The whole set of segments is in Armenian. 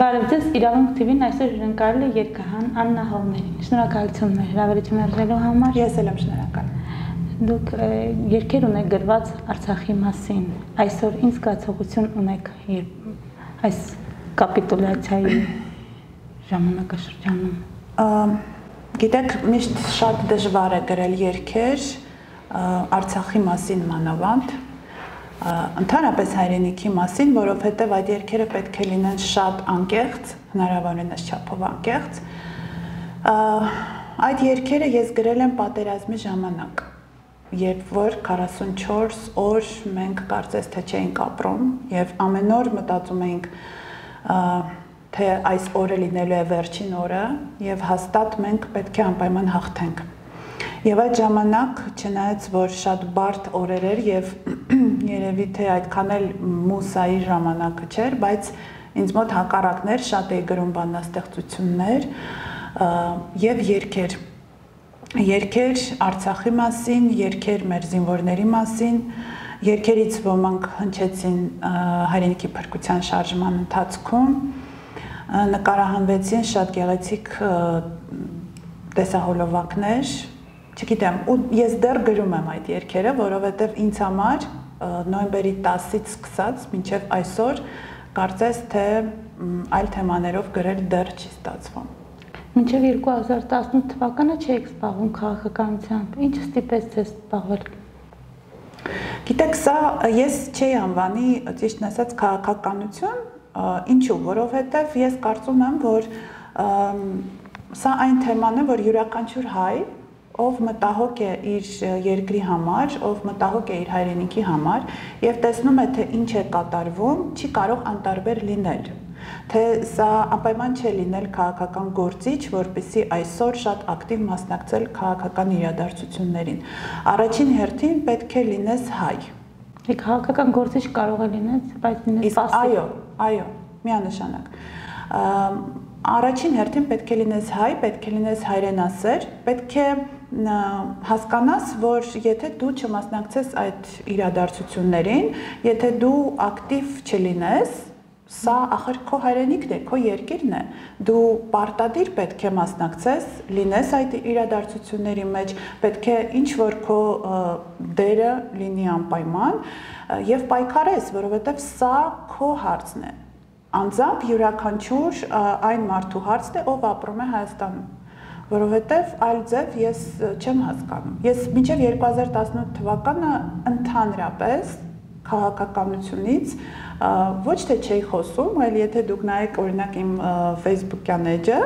Բարև ձեզ, Իրավունք TV-ն այսօր հյուրընկալել է երգահան Աննա Հովմերին։ Շնորհակալություն հրավերություն արժելու համար։ Ես էլ եմ շնորհակալ։ Դուք երգեր ունեք գրված Արցախի մասին։ Այսօր ինչ զգացողություն ունեք այս կապիտուլյացիայի ժամանակաշրջանում։ Գիտեք, միշտ շատ դժվար է գրել երգեր Արցախի մասին մանավանդ, ընդհանրապես հայրենիքի մասին, որովհետև այդ երգերը պետք է լինեն շատ անկեղծ, հնարավորինս չափով անկեղծ։ Այդ երգերը ես գրել եմ պատերազմի ժամանակ, երբ որ 44 օր մենք կարծես թե չէինք ապրում եւ ամեն օր մտածում էինք, թե այս օրը լինելու է վերջին օրը եւ հաստատ մենք պետք է անպայման հաղթենք։ Եվ այդ ժամանակ, չնայած որ շատ բարդ օրեր էր եւ երևի թե այդքան էլ մուսայի ժամանակը չէր, բայց ինձ մոտ հակառակներ շատ էի գրում բանաստեղծություններ եւ երգեր։ Երգեր Արցախի մասին, երգեր մեր զինվորների մասին, երգերից ոմանք հնչեցին հայրենիքի փրկության շարժման ընթացքում, նկարահանվեցին շատ գեղեցիկ տեսահոլովակներ, չգիտեմ, ու ես դեռ գրում եմ այդ երգերը, որովհետև ինձ համար նոյեմբերի 10-ից սկսած մինչև այսօր կարծես թե այլ թեմաներով գրել դեռ չի ստացվում։ Մինչև 2018 թվականը չէիք զբաղվում քաղաքականությամբ, ինչը ստիպեց ձեզ զբաղվել։ Գիտեք, սա ես չէի անվանի, ճիշտն ասած, քաղաքականություն, ինչու, որովհետև ես կարծում եմ, որ սա այն թեման է, որ յուրաքանչյուր հայ, ով մտահոգ է իր երկրի համար, ով մտահոգ է իր հայրենիքի համար եւ տեսնում է, թե ինչ է կատարվում, չի կարող անտարբեր լինել, թե սա անպայման չէ լինել քաղաքական գործիչ, որպեսզի այսօր շատ ակտիվ մասնակցել քաղաքական իրադարձություններին։ Առաջին հերթին պետք է լինես հայ։ Քաղաքական գործիչ կարող է լինել, բայց լինես պասիվ։ Այո, միանշանակ։ Առաջին հերթին պետք է լինես հայ, պետք է լինես հայրենասեր, պետք է հասկանաս, որ եթե դու չմասնակցես այդ իրադարձություններին, եթե դու ակտիվ չլինես, սա ախր քո հայրենիքն է, քո երկիրն է, դու պարտադիր պետք է մասնակցես, լինես այդ իրադարձությունների մեջ, պետք է ինչ-որ քո դերը լինի անպայման եւ պայքարես, որովհետեւ սա քո հարցն է։ Անձամբ յուրաքանչյուր այն մարդու հարցն է, ով ապրում է Հայաստանում, որովհետև այլ ձև ես չեմ հասկանում։ Ես մինչև 2018 թվականը ընդհանրապես քաղաքականությունից ոչ թե չէի խոսում, այլ եթե դուք նայեք օրինակ իմ Facebook-յան էջը,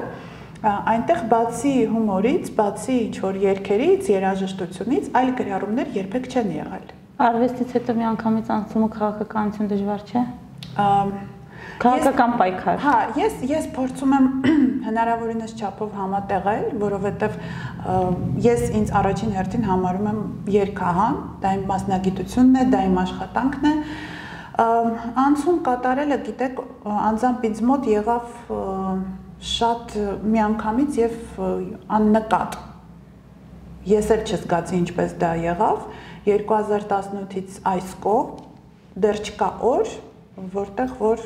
այնտեղ բացի հումորից, բացի ինչ-որ երգերից, երաժշտությունից, այլ գրառումներ երբեք չեն եղել։ Արվեստից հետո միանգամից անցումը քաղաքականություն դժվար չէ։ Քաղաքական պայքար։ Հա, ես փորձում եմ հնարավորինս չափով համատեղել, որովհետև ես ինձ առաջին հերթին համարում եմ երգահան, դա իմ մասնագիտությունն է, դա իմ աշխատանքն է։ Անցում կատարելը, գիտեք, անձամբ ինձ մոտ եղավ շատ միանգամից եւ աննկատ։ Ես էլ չզգացի ինչպես դա եղավ 2018-ից այս կողմ դեռ չկա օր, որտեղ որ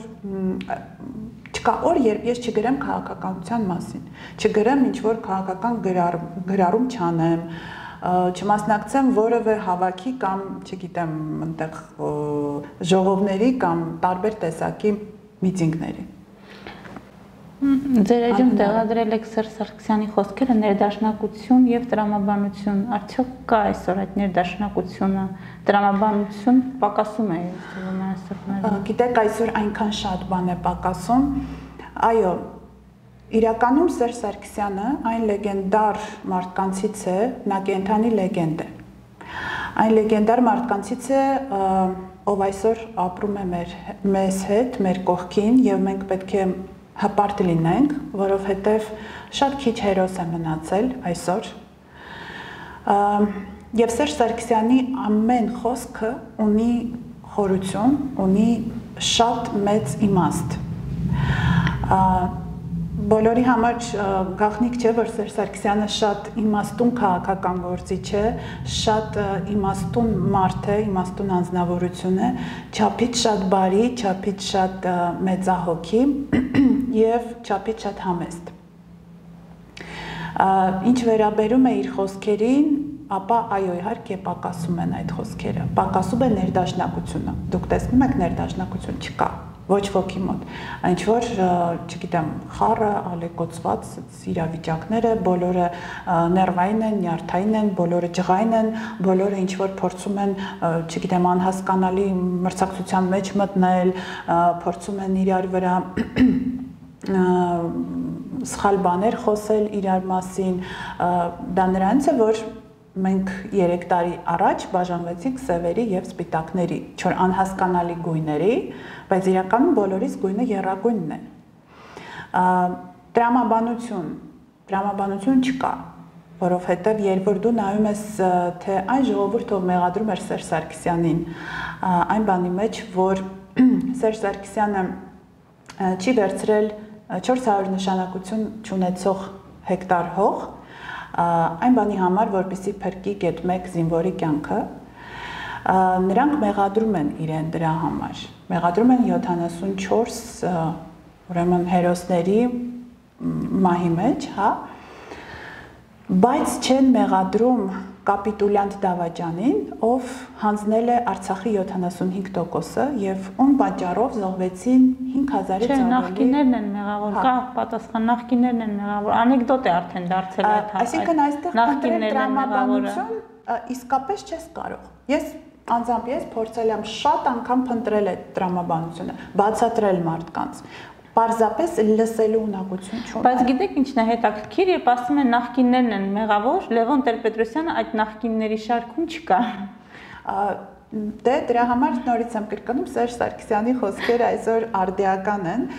չկա օր, երբ ես չգրեմ քաղաքականության մասին, չգրեմ ինչ-որ քաղաքական գրառում չանեմ, չմասնակցեմ որևէ հավաքի կամ, չգիտեմ, այնտեղ ժողովների կամ տարբեր տեսակի միտինգների։ Ձեր էջում տեղադրել եք Սերժ Սարգսյանի խոսքերը ներդաշնակություն եւ տրամաբանություն, արդյոք կա այսօր այդ ներդաշնակությունը, տրամաբանություն պակասում է այսօր։ Գիտեք, այսօր այնքան շատ բան է պակասում։ Այո, իրականում Սերժ Սարգսյանը այն լեգենդար մարդկանցից է, նա կենդանի լեգենդ է։ Այն լեգենդար մարդկանցից է, ով այսօր ապրում է մեզ հետ, մեր կողքին եւ մենք պետք է հպարտ լինենք, որովհետև շատ քիչ հերոս է մնացել այսօր։ Եվ Սերժ Սարգսյանի ամեն խոսքը ունի խորություն, ունի շատ մեծ իմաստ։ Բոլորի համար գաղտնիք չէ, որ Սերժ Սարգսյանը շատ իմաստուն քաղաքական գործիչ է, շատ իմաստուն մարդ է, իմաստուն անձնավորություն է, չափից շատ բարի, չափից շատ մեծահոգի եւ չափից շատ համեստ։ Ինչ վերաբերում է իր խոսքերին, ապա այո, իհարկե պակասում են այդ խոսքերը։ Պակասում է ներդաշնակությունը։ Դուք տեսնում եք, ներդաշնակություն չկա։ Ոչ ոքի մոտ, ինչ որ, չգիտեմ, խառը, ալեկոծված իրավիճակները, բոլորը ներվային են, նյարդային են, բոլորը ջղային են, բոլորը ինչ որ փորձում են, չգիտեմ, անհասկանալի մրցակցության մեջ մտնել, փորձում են իրար վրա սխալ բաներ խոսել իրար մասին, դա նրանց է, որ մենք 3 տարի առաջ բաժանվեցինք սևերի եւ սպիտակների, չոր անհասկանալի գույների, բայց իրականում բոլորիս գույնը եռագույնն է։ Տրամաբանություն չկա, որովհետեւ երբ որ դու նայում ես, թե այն ժողովուրդը մեղադրում էր Սերժ Սարգսյանին, այն բանի մեջ, որ Սերժ Սարգսյանը չի վերցրել 400 նշանակություն չունեցող հեկտար հող, այն բանի համար, որպեսզի փրկի գետ 1 զինվորի կյանքը, նրանք մեղադրում են իրեն դրա համար։ Մեղադրում են 74 ուրեմն հերոսների մահի մեջ, հա, բայց չեն մեղադրում կապիտուլյանտ Դավաճանին, ով հանձնել է Արցախի 75%-ը եւ ում պատճառով զոհվեցին 5000-ից ավելի։ Չէ, նախկիններն են մեղավոր, կա պատասխան, նախկիններն են մեղավոր, անեկդոտ է արդեն դարձել այդ։ Այսինքն այստեղ խնդրել տրամաբանություն իսկապես չես կարող։ Ես անձամբ փորձել եմ շատ անգամ փնտրել այդ տրամաբանությունը, բացատրել մարդկանց։ Պարզապես լսելու ունակություն չունի։ Բայց գիտեք ինչն է հետաքրքիր, երբ ասում են նախկիններն են մեղավոր, Լևոն Տեր-Պետրոսյանը այդ նախկինների շարքում չկա։ Դե դրա համար նորից եմ կրկնում, Սերժ Սարգսյանի խոսքերը այսօր արդիական են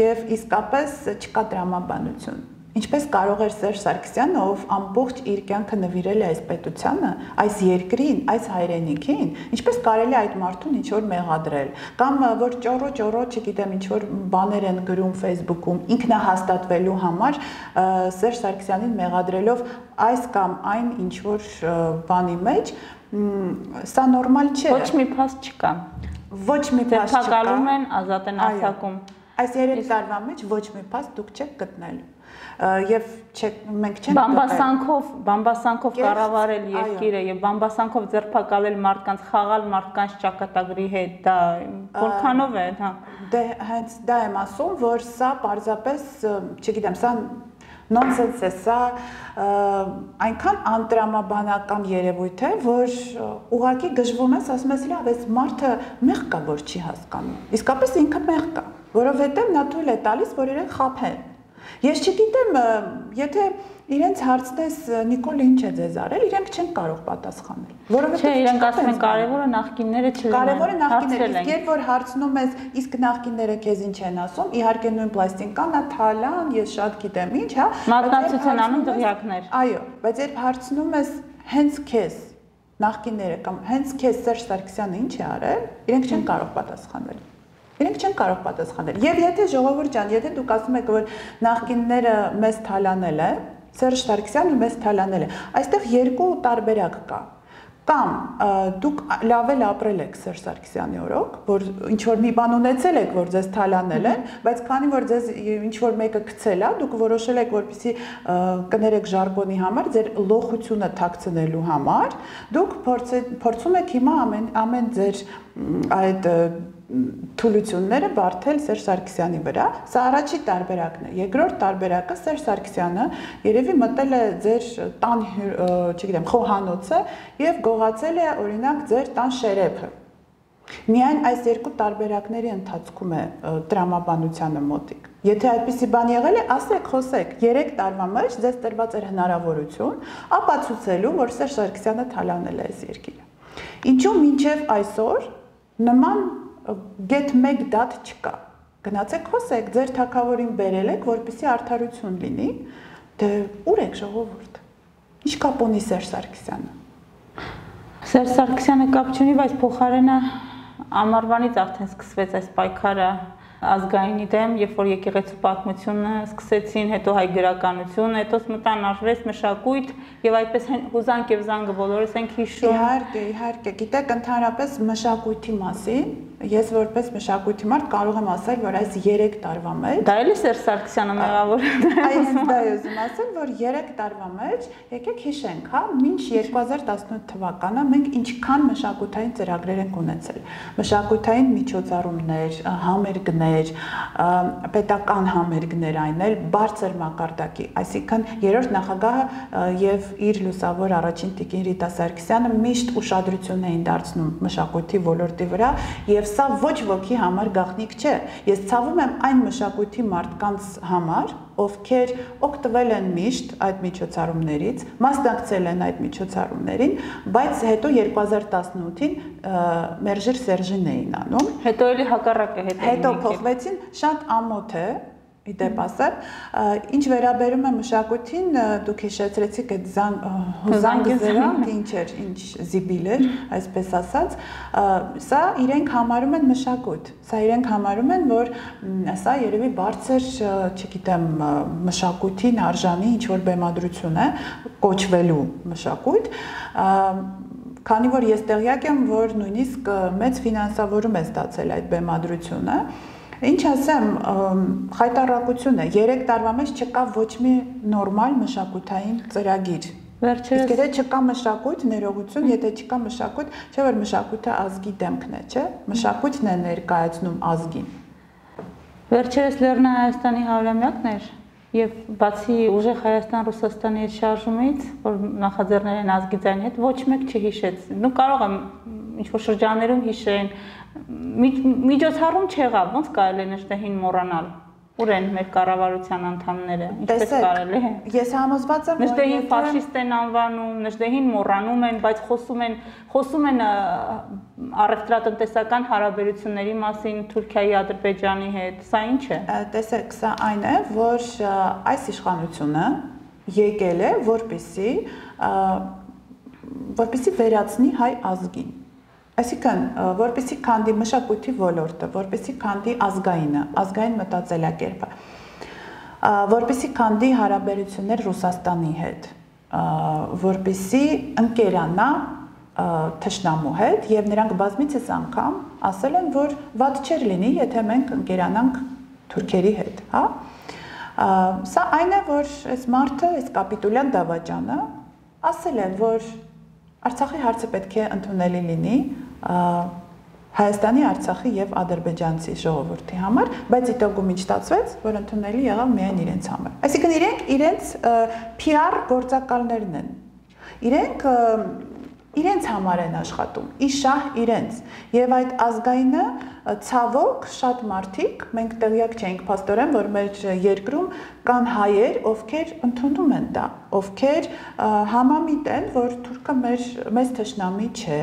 եւ իսկապես չկա տրամաբանություն։ Ինչպես կարող էր Սերժ Սարգսյանը, ով ամբողջ իր կյանքը նվիրել է այս պետությանը, այս երկրին, այս հայրենիքին, ինչպես կարելի է այդ մարդուն ինչ որ մեղադրել, կամ որ ճոռո, չգիտեմ, ինչ որ բաներ են գրում Facebook-ում, ինքնահաստատվելու համար Սերժ Սարգսյանին մեղադրելով այս կամ այն ինչ որ բանի մեջ, սա նորմալ չէ։ Ոչ մի փաստ չկա։ Ոչ մի փաստ չկա։ Թակալում են, ազատ են արձակում։ Այս 3 տարվա մեջ ոչ մի փաստ դուք չեք գտնել։ Եվ մենք չենք բամբասանքով կառավարել երկիրը եւ բամբասանքով ձերբակալել մարդկանց, խաղալ մարդկանց ճակատագրի հետ, դա որքանով է, հա։ Դե հենց դա եմ ասում, որ սա պարզապես, չգիտեմ, սա նոնսենս է, սա այնքան անտրամաբանական երևույթ է, որ ուղղակի գժվում ես, ասում ես, լավ, այս մարդը մեղ կա, որ չի հասկանում։ Իսկապես ինքը մեղ կա, որովհետեւ նա թույլ է տալիս, որ իրեն խաբեն։ Ես չգիտեմ, եթե իրենց հարցնես Նիկոլ ինչ է ձեզ արել, իրենք չեն կարող պատասխանել, որովհետեւ չէ, իրենք ասում են կարևորը նախկինները չլինեն։ Կարևորը նախկինները, իսկ երբ որ հարցնում ես, իսկ նախկինները քեզ ինչ են ասում, իհարկե նույն պլաստինկան, թալան, ես շատ գիտեմ ինչ, հա, մատնացության անում դղյակներ։ Այո, բայց երբ հարցնում ես հենց քեզ նախկինները կամ հենց քեզ Սերժ Սարգսյանը ինչ է արել, իրենք չեն կարող պատասխանել։ Իրենք չեն կարող պատասխանել։ Եվ եթե ժողովուրդ ջան, եթե դուք ասում եք, որ նախկինները մեզ թալանել է, Սերժ Սարգսյանը մեզ թալանել է, այստեղ երկու տարբերակ կա։ Կամ դուք լավ էլ ապրել եք Սերժ Սարգսյանի օրոք, որ ինչ որ մի բան ունեցել եք, որ ձեզ թալանել են, բայց քանի որ ձեզ ինչ որ մեկը գցել է, դուք որոշել եք, որպեսզի կներեք ժարգոնի համար, ձեր լոխությունը թաքցնելու համար, դուք փորձում եք հիմա ամեն ձեր այդ թուլությունները բարթել Սերժ Սարգսյանի վրա, սա առաջի տարբերակն է։ Երկրորդ տարբերակը Սերժ Սարգսյանը երևի մտել է ձեր տան, չգիտեմ, խոհանոցը եւ գողացել է օրինակ ձեր տան շերեփը։ Միայն այս երկու տարբերակների ընթացքում է տրամաբանությանը մոտիկ։ Եթե այդպիսի բան եղել է, ասեք, խոսեք, 3 տարվա մեջ ձեզ տրված էր հնարավորություն ապացուցելու, որ Սերժ Սարգսյանը թալանել է այս երկիրը։ Ինչու մինչև այսօր նման գետ 1 դատ չկա։ Գնացեք խոսեք, ձեր թագավորին բերել եք, որպեսզի արդարություն լինի, դե ուր եք ժողովուրդ։ Ինչ կապ ունի Սերժ Սարգսյանը։ Սերժ Սարգսյանը կապ չունի, բայց փոխարենը ամառվանից արդեն սկսվեց այս պայքարը ազգայինի դեմ, երբ որ եկեղեցու պատմությունը սկսեցին, հետո հայ գրականություն, հետո մտան արվեստ, մշակույթ եւ այդպես հուզանք եւ զանգը բոլորս ենք հիշում։ Իհարկե, գիտեք, ընդհանրապես մշակույթի մասին ես որպես մշակույթի մարդ կարող եմ ասել, որ այս 3 տարվա մեջ դա էլի Սերժ Սարգսյանը մեղավոր է։ Այս դա ուզում ասել, որ 3 տարվա մեջ եկեք հիշենք, հա, մինչ 2018 թվականը մենք ինչքան մշակութային ծրագրեր ենք ունեցել։ Մշակութային միջոցառումներ, համերգներ, պետական համերգներ այն էլ բարձր մակարդակի, այսինքն երրորդ նախագահը եւ իր լուսավոր առաջին տիկին Ռիտա Սարգսյանը միշտ ուշադրություն էին դարձնում մշակույթի ոլորտի վրա եւ սա ոչ ոքի համար գաղտնիք չէ։ Ես ցավում եմ այն մշակույթի մարդկանց համար, ովքեր օգտվել են միշտ այդ միջոցառումներից, մասնակցել են այդ միջոցառումներին, բայց հետո 2018-ին Մերժիր Սերժին էին անում։ Հետո էլի հակառակը հետո փոխվեցին, շատ ամոթ է իդեպ ասեմ, ինչ վերաբերում է մշակույթին, դուք հիշեցրեցիք այդ զանգը զրանք, ինչ էր, ինչ զիբիլ էր, այսպես ասած, սա իրենք համարում են մշակույթ, սա իրենք համարում են, որ սա երևի բարձր, չգիտեմ, մշակույթին արժանի ինչ-որ բեմադրություն է, կոչվելու մշակույթ, քանի որ ես տեղյակ եմ, որ նույնիսկ մեծ ֆինանսավորում է ստացել այդ բեմադրությունը, Ինչ ասեմ, խայտառակություն է, 3 տարվա մեջ չկա ոչ մի նորմալ մշակութային ծրագիր։ Իսկ եթե չկա մշակույթ, ներողություն, եթե չկա մշակույթ, չէ՞ որ մշակույթը ազգի դեմքն է, չէ՞։ Մշակույթն է ներկայացնում ազգին։ Վերջերս Լեռնային Հայաստանի 100-ամյակն էր եւ բացի ուժեղ Հայաստան-Ռուսաստանի հետ շարժումից, որ նախաձեռնել են ազգի ձայնի հետ, ոչ մեկ չհիշեց։ Նու կարող եմ ինչ-որ շրջաններում հիշեն, միջոցառում չեղավ, ոնց կարելի է Նժդեհին մոռանալ։ Ուր են մեր կառավարության անդամները, ինչպես կարելի է։ Ես համոզված եմ, որ Նժդեհին ֆաշիստ են անվանում, Նժդեհին մոռանում են, բայց խոսում են առևտրատնտեսական հարաբերությունների մասին Թուրքիայի, Ադրբեջանի հետ։ Սա ինչ է։ Տեսեք, սա այն է, որ այս իշխանությունը եկել է, որպեսզի վերացնի հայ ազգին։ Այսինքն, որպեսզի քանդի մշակույթի ոլորտը, որպեսզի քանդի ազգային մտածելակերպը, որպեսզի քանդի հարաբերություններ Ռուսաստանի հետ, որպեսզի ընկերանա թշնամու հետ եւ նրանք բազմիցս անգամ ասել են, որ վատ չէր լինի, եթե մենք ընկերանանք թուրքերի հետ, հա։ Սա այն է, որ այս մարդը, այս կապիտուլյան դավաճանը ասել է, որ Արցախի հարցը պետք է ընդունելի լինի Հայաստանի, Արցախի եւ ադրբեջանցի ժողովրդի համար, բայց իտոգում ինչ ստացվեց, որ ընդունելի եղավ միայն իրենց համար։ Այսինքն իրենց PR գործակալներն են։ Իրենց համար են աշխատում, իշահ իրենց։ Եվ այդ ազգայինը ցավոք շատ մարդիկ, մենք տեղյակ չենք փաստորեն, որ մեր երկրում կան հայեր, ովքեր ընդունում են դա, ովքեր համամիտ են, որ թուրքը մեզ թշնամի չէ,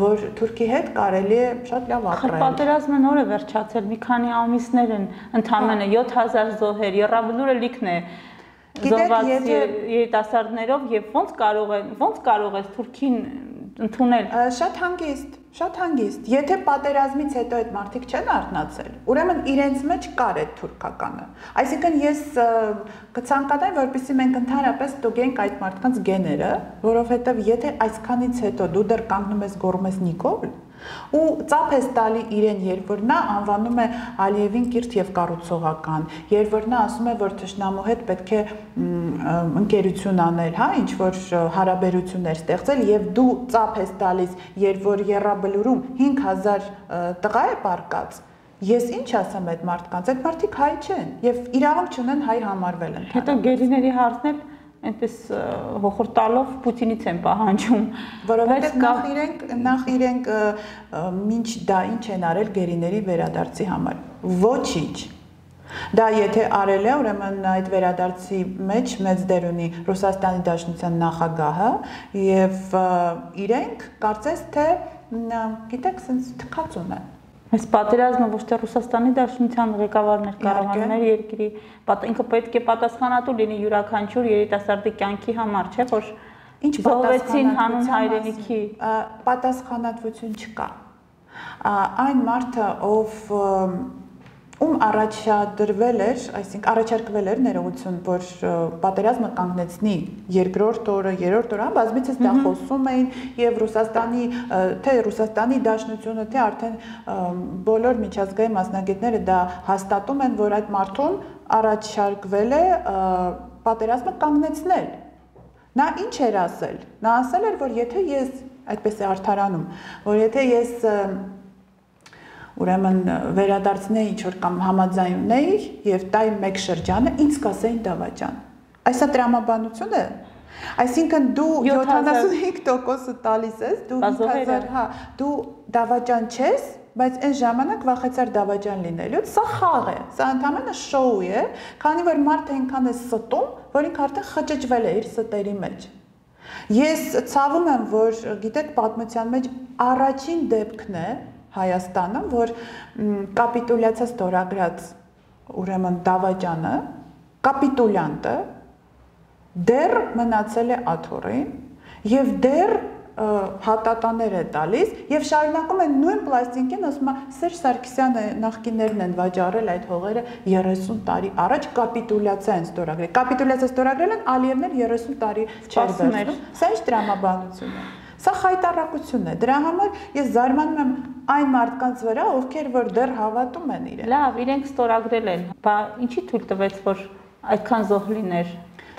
որ թուրքի հետ կարելի է շատ լավ ապրել։ Պատերազմը նոր է վերջացել, մի քանի ամիսներ են, ընդամենը 7000 զոհեր, Եռաբլուրը լիքն է զոհված երիտասարդներով եւ ոնց կարող է Թուրքին ընդունել։ Շատ հանգիստ։ Եթե պատերազմից հետո այդ մարդիկ չեն արթնացել, ուրեմն իրենց մեջ կար այդ թուրքականը։ Այսինքն ես կցանկանայի, որպեսզի մենք ընդհանրապես ստուգենք այդ մարդկանց գեները, որովհետև եթե այսքանից հետո դու դեռ կանգնում ես գոռում ես Նիկոլ, ու ծափ ես տալի իրեն, երբ որ նա անվանում է Ալիևին կիրթ եւ կառուցողական, երբ որ նա ասում է, որ թշնամու հետ պետք է ընկերություն անել, հա, ինչ որ հարաբերություններ ստեղծել եւ դու ծափ ես տալիս, երբ որ Եռաբլուրում 5000 տղա է պարկած, ես ինչ ասեմ այդ մարդկանց, այդ մարդիկ հայ չեն եւ իրավունք չունեն հայ համարվել են։ Հետո գերիների հարցն էլ այնպես հոխորտալով Պուտինից են պահանջում, որովհետև նախ իրենք ինչ դա ինչ են արել գերիների վերադարձի համար, ոչինչ։ Դա եթե արել է, ուրեմն այդ վերադարձի մեջ մեծ դեր ունի Ռուսաստանի Դաշնության նախագահը եւ իրենք կարծես թե գիտեք, sense թքած ունեն։ Այս պատերազմը ոչ թե Ռուսաստանի Դաշնության ղեկավարն էր կառավարում էր երկրի, ինքը պետք է պատասխանատու լինի յուրաքանչյուր երիտասարդի կյանքի համար, չէ՞ որ ինչ զոհվեցին հանուն հայրենիքի, պատասխանատվություն չկա։ Այն մարդը, ով ում առաջադրվել էր, այսինքն առաջարկվել էր ներողություն, որ պատերազմը կանգնեցնի երկրորդ օրը, երրորդ օրը, բազմիցս դա խոսում էին եւ Ռուսաստանի, թե Ռուսաստանի Դաշնությունը, թե արդեն բոլոր միջազգային մասնագետները դա հաստատում են, որ այդ մարդուն առաջարկվել է պատերազմը կանգնեցնել։ Նա ինչ էր ասել։ Նա ասել էր, որ եթե ես այդպես է արդարանում, որ եթե ես ուրեմն վերադարձնեի ինչ-որ կամ համաձայնեի եւ տայի մեկ շրջանը, ինձ կասեին դավաճան։ Այսա տրամաբանություն է։ Այսինքն դու 75% տալիս ես, դու 5000, հա, դու դավաճան չես, բայց այն ժամանակ վախեցար դավաճան լինելուց, սա խաղ է, սա ընդհանրապես շոու է, քանի որ մարդը այնքան է ստում, որ ինքը արդեն խճճվել է իր ստերի մեջ։ Ես ցավում եմ, որ գիտեք, պատմության մեջ առաջին դեպքն է Հայաստանը, որ կապիտուլյացիա ստորագրած ուրեմն դավաճանը, կապիտուլյանտը դեռ մնացել է աթոռին եւ դեռ հատատաներ է տալիս եւ շարունակում են նույն պլաստինկին, ասում է Սերժ Սարգսյանը նախկիններն են վաճառել այդ հողերը 30 տարի առաջ կապիտուլյացիա են ստորագրել։ Կապիտուլյացիա ստորագրել են Ալիևն 30 տարի չէր վերցնում։ Սա ինչ տրամաբանություն է։ Սա խայտառակություն է։ Դրա համար ես զարմանում եմ այն մարդկանց վրա, ովքեր որ դեռ հավատում են իրեն։ Լավ, իրենք ստորագրել են։ Բա ինչի թույլ տվեց, որ այդքան զոհ լիներ։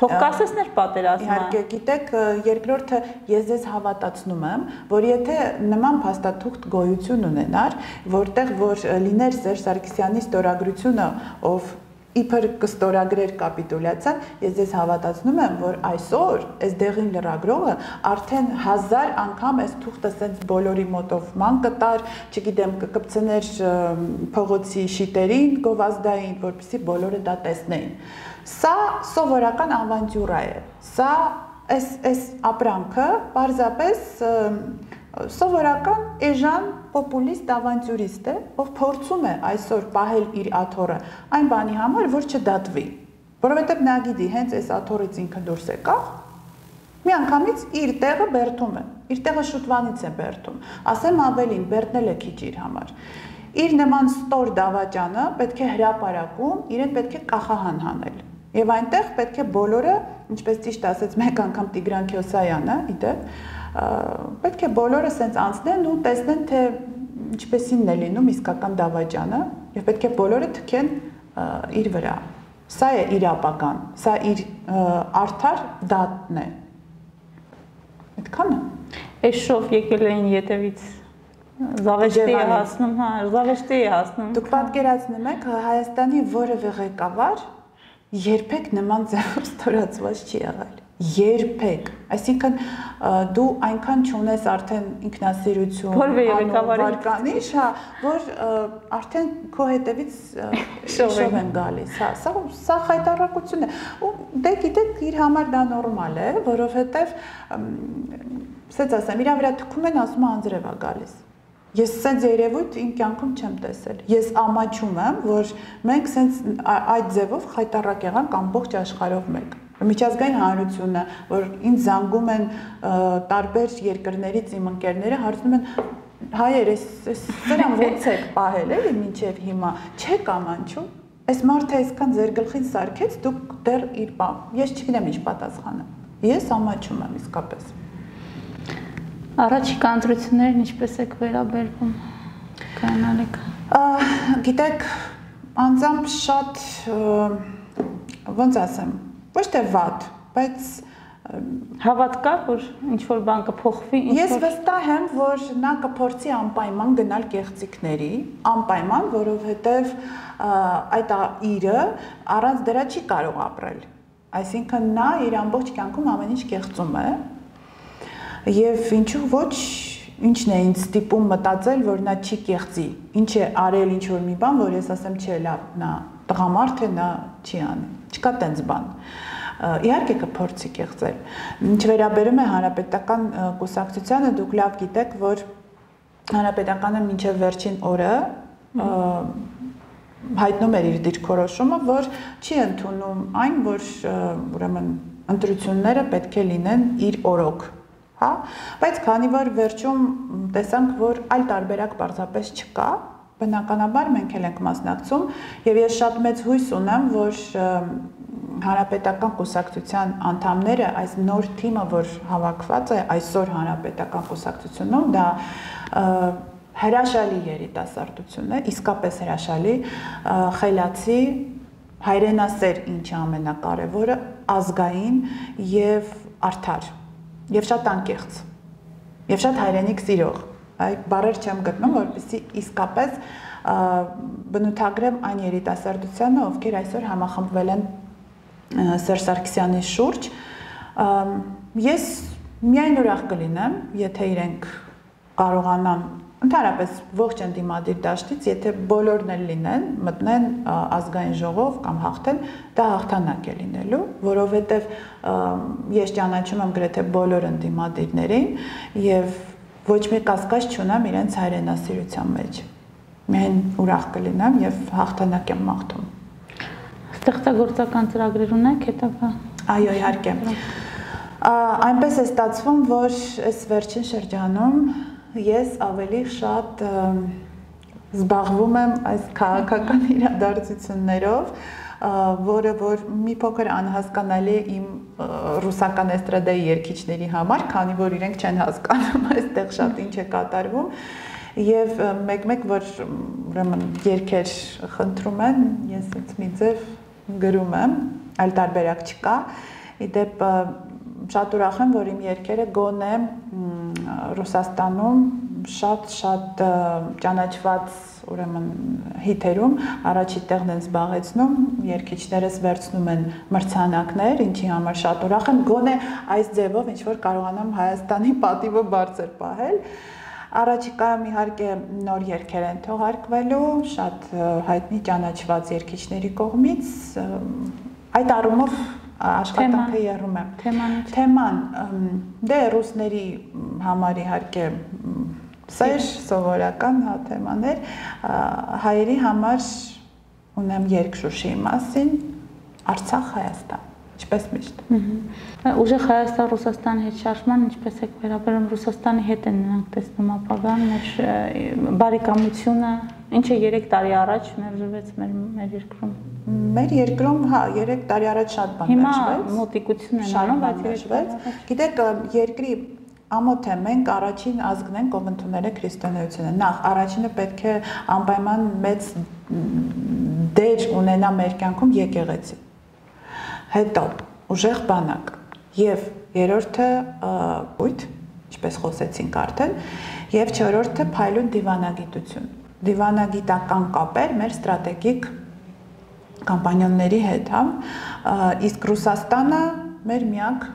Թող կասեցներ պատերազմը։ Իհարկե, գիտեք, երկրորդը ես ձեզ հավատացնում եմ, որ եթե նման փաստաթուղթ գոյություն ունենար, որտեղ որ լիներ Սերժ Սարգսյանի ստորագրությունը, ով իբր կստորագրեր կապիտուլյացիան, ես ձեզ հավատացնում եմ, որ այսօր այս դեղին լրագրողը արդեն 1000 անգամ այս թուղթը սենց բոլորի մոտով ման կտար, չգիտեմ, կկպցներ փողոցի շիտերին, գովազդային, որպեսզի բոլորը դա տեսնեին։ Սա սովորական ավանտյուրա է։ Սա այս ապրանքը պարզապես սովորական էժան պոպուլիստ ավանտյուրիստ է, ով փորձում է այսօր պահել իր աթոռը այն բանի համար, որ չդատվի, որովհետև նա գիտի հենց այս աթոռից ինքը դուրս եկավ, միանգամից իր տեղը բերդում է, իր տեղը շուտվանից է բերդում, ասեմ ավելին, բերդնել է քիչ իր համար, իր նման ստոր դավաճանը պետք է հրապարակում, իրեն պետք է կախահան հանել, եւ այնտեղ պետք է բոլորը, ինչպես ճիշտ ասեց մեկ անգամ Տիգրան Քյոսայանը, իդեպ, պետք է բոլորը սենց անցնեն ու տեսնեն, թե ինչպեսինն է լինում իսկական դավաճանը եւ պետք է բոլորը թքեն իր վրա։ Սա է իր ապագան, սա իր արդար դատն է։ Այդքանը։ Այս շով եկել էին ետևից զավեշտի է հասնում, հա, զավեշտի է հասնում։ Դուք պատկերացնում եք, Հայաստանի որևէ ղեկավար երբեք նման ձևով ստորացված չի եղել։ Երբեք, այսինքն դու այնքան չունես արդեն ինքնասիրություն, վարկանիշ, հա, որ արդեն քո հետևից շով են գալիս, հա, սա խայտառակություն է։ Ու դե գիտեք, իր համար դա նորմալ է, որովհետև ասած ասեմ, իր վրա թքում են, ասում անձրև է գալիս։ Ես սենց երևույթ իմ կյանքում չեմ տեսել։ Ես ամաչում եմ, որ մենք սենց այդ ձևով խայտառակ եղանք ամբողջ աշխարհով մեկ։ Միջազգային հանրությունը, որ ինձ զանգում են տարբեր երկրներից իմ ընկերները, հարցնում են հայեր, սրան ո՞նց եք պահել էլի մինչև հիմա, չեք ամանչում։ Այս մարդը այսքան ձեր գլխին սարքեց, դուք դեռ իր ես չգիտեմ ինչ պատասխանը։ Ես ամաչում եմ իսկապես։ Առաջիկա ընտրություններին ինչպես եք վերաբերվում, կանալեք։ Գիտեք, անձամբ շատ ոնց ասեմ, ոչ թե վատ, բայց հավատ կա, որ ինչ-որ բան կփոխվի, Ես վստահ եմ, որ նա կփորձի անպայման գնալ կեղծիքների, անպայման, որովհետև այդ իրը առանց դրա չի կարող ապրել։ Այսինքն նա իր ամբողջ կյանքում ամեն ինչ կեղծում է, եւ ինչու ոչ, ինչն է ինձ ստիպում մտածել, որ նա չի կեղծի, ինչ է արել ինչ-որ մի բան, որ ես ասեմ, չէ, լավ, նա տղամարդ է, նա չի անի, չկա տենց բան։ Իհարկե կփորձի կեղծել։ Ինչ վերաբերում է հանրապետական կուսակցությանը, դուք լավ գիտեք, որ հանրապետականը մինչև վերջին օրը հայտնում էր իր դիրքորոշումը, որ չի ընդունում այն, որ ուրեմն ընտրությունները պետք է լինեն իր օրոք, հա, բայց քանի որ վերջում տեսանք, որ այլ տարբերակ պարզապես չկա, բնականաբար մենք էլ ենք մասնակցում եւ ես շատ մեծ հույս ունեմ, որ Հանրապետական կուսակցության անդամները այս նոր թիմը, որ հավաքված է այսօր Հանրապետական կուսակցությունում, դա հրաշալի երիտասարդություն է, իսկապես հրաշալի, խելացի, հայրենասեր, ինչը ամենակարևորը, ազգային եւ արդար, եւ շատ անկեղծ, եւ շատ հայրենիք սիրող։ Այդ բառեր չեմ գտնում, որպեսզի իսկապես բնութագրեմ այն երիտասարդությանը, ովքեր այսօր համախմբվել են Սերժ Սարգսյանի շուրջ։ Ես միայն ուրախ կլինեմ, եթե իրենք կարողանան ընդհանրապես ողջ ընդդիմադիր դաշտից, եթե բոլորն էլ լինեն, մտնեն ազգային ժողով կամ հաղթեն, դա հաղթանակ է լինելու, որովհետև ես ճանաչում եմ գրեթե բոլոր ընդդիմադիրներին եւ ոչ մի կասկած չունեմ իրենց հայրենասիրության մեջ։ Միայն ուրախ կլինեմ եւ հաղթանակ եմ մաղթում։ Ստեղծագործական ծրագրեր ունեք հետագա։ Այո, իհարկե։ Այնպես է ստացվում, որ այս վերջին շրջանում ես ավելի շատ զբաղվում եմ այս քաղաքական իրադարձություններով, որը որ մի փոքր անհասկանալի է իմ ռուսական էստրադայի երգիչների համար, քանի որ իրենք չեն հասկանում այստեղ շատ ինչ է կատարվում, եւ մեկ-մեկ որ ուրեմն երգեր խնդրում են, ես ինձ մի ձև գրում եմ, այլ տարբերակ չկա։ Իդեպ շատ ուրախ եմ, որ իմ երգերը գոնե Ռուսաստանում շատ ճանաչված ուրեմն հիթերում առաջի տեղն են զբաղեցնում, երգիչներս վերցնում են մրցանակներ, ինչի համար շատ ուրախ եմ, գոնե այս ձևով ինչ որ կարողանամ Հայաստանի պատիվը բարձր պահել։ Առաջիկայում իհարկե նոր երգեր են թողարկվելու, շատ հայտնի ճանաչված երգիչների կողմից, այդ առումով աշխատանքը եռում է։ Թեման, դե ռուսների համար իհարկե սեր, սովորական թեմաներ, հայերի համար ունեմ երգ Շուշիի մասին, Արցախ, Հայաստան, ինչպես միշտ։ Ուժեղ Հայաստան-Ռուսաստան հետ շարժման ինչպես եք վերաբերում, Ռուսաստանի հետ են նրանք տեսնում ապագան, մեր բարեկամությունը, ինչը 3 տարի առաջ մերժվեց մեր երկրում։ Մեր երկրում, հա, 3 տարի առաջ շատ բան մերժվեց։ Հիմա մոտիկություն են անում, բայց մերժվեց։ Գիտեք, երկրի ամոթ է, մենք առաջին ազգն ենք, ով ընդունել է քրիստոնեությունը։ Նախ առաջինը պետք է անպայման մեծ դեր ունենա մեր կյանքում եկեղեցի։ Հետո ուժեղ բանակ եւ երրորդը բույթ, ինչպես խոսեցինք արդեն, եւ չորրորդը փայլուն դիվանագիտություն։ Դիվանագիտական կապեր մեր ստրատեգիկ կամպանիաների հետ, հա, իսկ Ռուսաստանը մեր միակ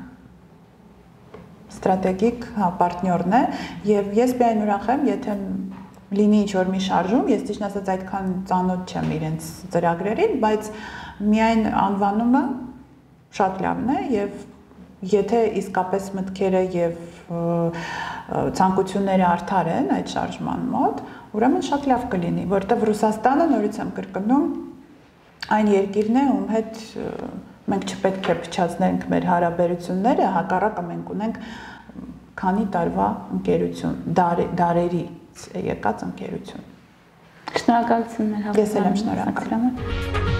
ստրատեգիկ պարտներն է եւ ես միայն ուրախ եմ, եթե լինի ինչ-որ մի շարժում, ես ճիշտ ասած այդքան ծանոթ չեմ իրենց ծրագրերին, բայց միայն անվանումը շատ լավն է եւ եթե իսկապես մտքերը եւ ցանկությունները արդար են այդ շարժման մոտ, ուրեմն շատ լավ կլինի, որտեղ Ռուսաստանը նորից եմ կրկնում այն երկիրն է, ում հետ մենք չպետք է փչացնենք մեր հարաբերությունները, հակառակը մենք ունենք քանի տարվա ընկերություն, դարերից եկած ընկերություն։ Շնորհակալություն մեր հավաքման։ Ես էլ եմ շնորհակալ։